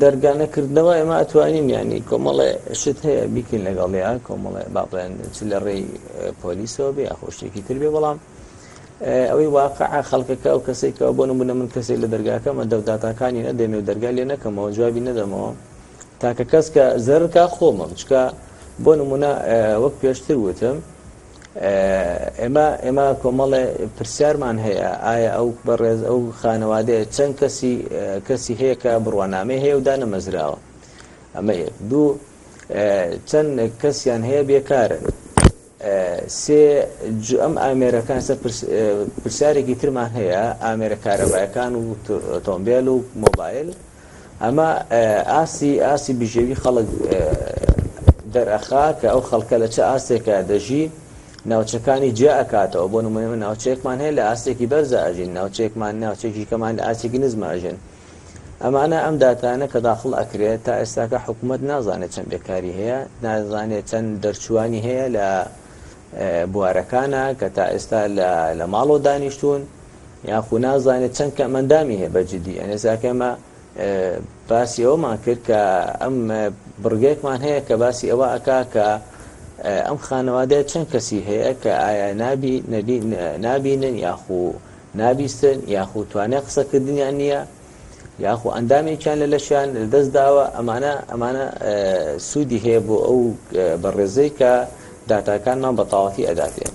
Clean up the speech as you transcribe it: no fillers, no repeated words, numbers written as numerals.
دەرگا نەکردنەوە ئێمە ئەتوانین یانی کۆمەڵێ شت هەیە بیکەین لەگەڵیا کۆمەڵێ با بڵێن چ لە ڕێی پۆلیسەوە بێ یاخۆ شتێکی تر بێ بەڵام ئەوەی واقع خەڵکەکە ئەو کەسێک کە بۆ نمونە من کەسێک لە دەرگاکەمە دەوداتاکانی نەدەمێ و دەرگا لێ نەکەمەوە جوابی نەدەمەوە تاکە کەس کە زەرکە خۆمم چکە بۆ نمونە وەک پێشتر وتم ئێمە ئێمە کۆمەڵێ پرسیارمان هەیە ئایا ئەو بەڕێز ئەو خانەوادەیە چەند کەسی کەسی هەیە کە بڕوانامەی هەیە و دانەمەزراوە ئەمە یەک دوو چەند کەسیان هەیە بێکارن سێ ئەم ئامێرەکان سەر پرسیارێکی ترمان هەیە ئامێرە کارەبایەکان و ئۆتۆمبێل و مۆبایل ئەمە ئاستی ئاستی بژێوی خەڵک دەرئەخا کە ئەو خەڵکە لە چ ئاستێکا دەژی ناوچەکانی جیا ئەکاتەوە بۆ نمونە ئێمە ناوچەیەکمان هەیە لە ئاستێکی بەرزا ئەژین ناوچەیەکمان ناوچەیەکی کەمان لە ئاستێکی نزما ئەژێن ئەمانە ئەم داتانە کە داخڵ ئەکرێت تا ئێستاکە حکوومەت نازانێت چەند بێکاری هەیە نازانێت چەند دەرچوانی هەیە لە بوارەکانە کە تا ئێستا لە ماڵەوە دانیشتوون یاخو نازانێت چەند کەمئەندامی هەیە بە جدی یانی ئێستا کە ئێمە باسی ئەوەمان کرد کە ئەم بڕگەیەکمان هەیە کە باسی ئەوە ئەکا کە ئەم خانەوادەیە چەند کەسی هەیە کە ئایا نابی نەبی نابینن یاخو نابیستن یاخو توانای قسەکردنیان نییە یاخو ئەندامێکیان لە لەشیان لەدەست داوە ئەمانە ئەمانە سوودی هەیە بۆ ئەو بەڕێزەی کە داتاکانمان بە تەواوەتی ئەداتێ.